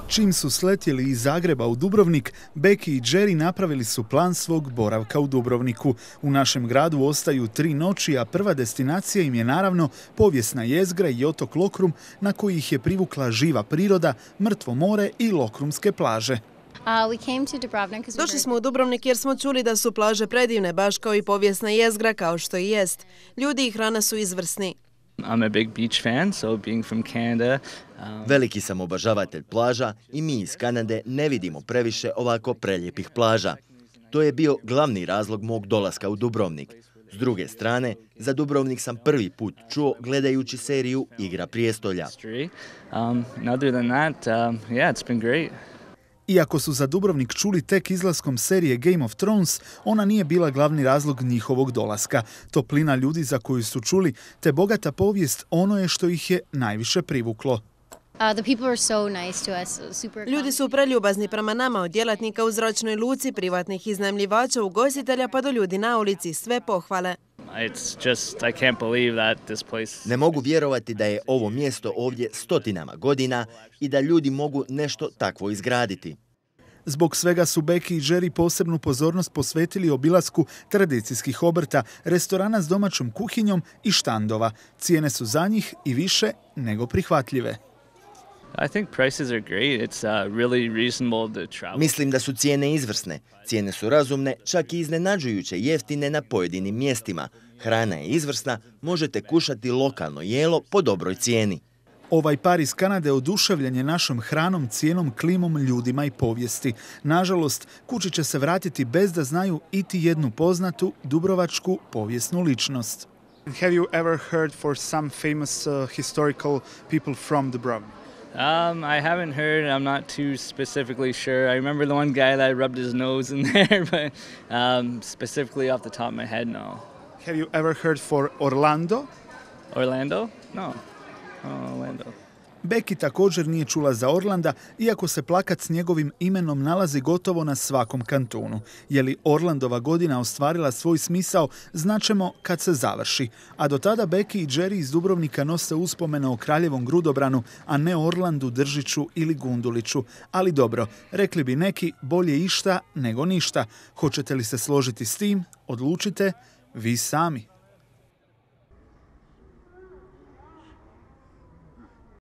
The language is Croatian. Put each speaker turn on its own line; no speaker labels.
Čim su sletjeli iz Zagreba u Dubrovnik, Becky i Jerry napravili su plan svog boravka u Dubrovniku. U našem gradu ostaju 3 noći, a prva destinacija im je naravno povijesna jezgra i otok Lokrum, na koji ih je privukla živa priroda, mrtvo more i lokrumske plaže.
Došli smo u Dubrovnik jer smo čuli da su plaže predivne, baš kao i povijesna jezgra, kao što i jest. Ljudi i hrana su izvrsni.
I'm a big beach fan, so being from Canada.
Veliki sam obožavatelj plaža i mi iz Kanade ne vidimo previše ovako prelijepih plaža. To je bio glavni razlog mog dolaska u Dubrovnik. S druge strane, za Dubrovnik sam prvi put čuo gledajući seriju Igra prijestolja.
Other than that, yeah, it's been great.
Iako su za Dubrovnik čuli tek izlaskom serije Game of Thrones, ona nije bila glavni razlog njihovog dolaska. Toplina ljudi za koju su čuli, te bogata povijest, ono je što ih je najviše privuklo.
Ljudi su preljubazni prema nama, od djelatnika u zračnoj luci, privatnih iznajmljivača, ugostitelja pa do ljudi na ulici, sve pohvale.
Ne mogu vjerovati da je ovo mjesto ovdje stotinama godina i da ljudi mogu nešto takvo izgraditi.
Zbog svega su Becky i Jerry posebnu pozornost posvetili obilasku tradicijskih obrta, restorana s domaćom kuhinjom i štandova. Cijene su za njih i više nego prihvatljive.
Mislim da su cijene izvrsne. Cijene su razumne, čak i iznenađujuće jeftine na pojedinim mjestima. Hrana je izvrsna, možete kušati lokalno jelo po dobroj cijeni.
Ovaj par iz Kanade oduševljen je našom hranom, cijenom, klimom, ljudima i povijesti. Nažalost, kući će se vratiti bez da znaju iti jednu poznatu dubrovačku povijesnu ličnost.
Have you ever heard for some famous historical people from Dubrovnik?
I haven't heard. I'm not too specifically sure. I remember the one guy that rubbed his nose in there, but specifically off the top of my head, no.
Have you ever heard for Orlando?
Orlando? No. Oh, Orlando.
Becky također nije čula za Orlanda, iako se plakat s njegovim imenom nalazi gotovo na svakom kantonu. Je li Orlandova godina ostvarila svoj smisao, znaćemo kad se završi. A do tada Becky i Jerry iz Dubrovnika nose uspomene o kraljevom Grudobranu, a ne Orlandu, Držiću ili Gunduliću. Ali dobro, rekli bi neki, bolje išta nego ništa. Hoćete li se složiti s tim? Odlučite vi sami.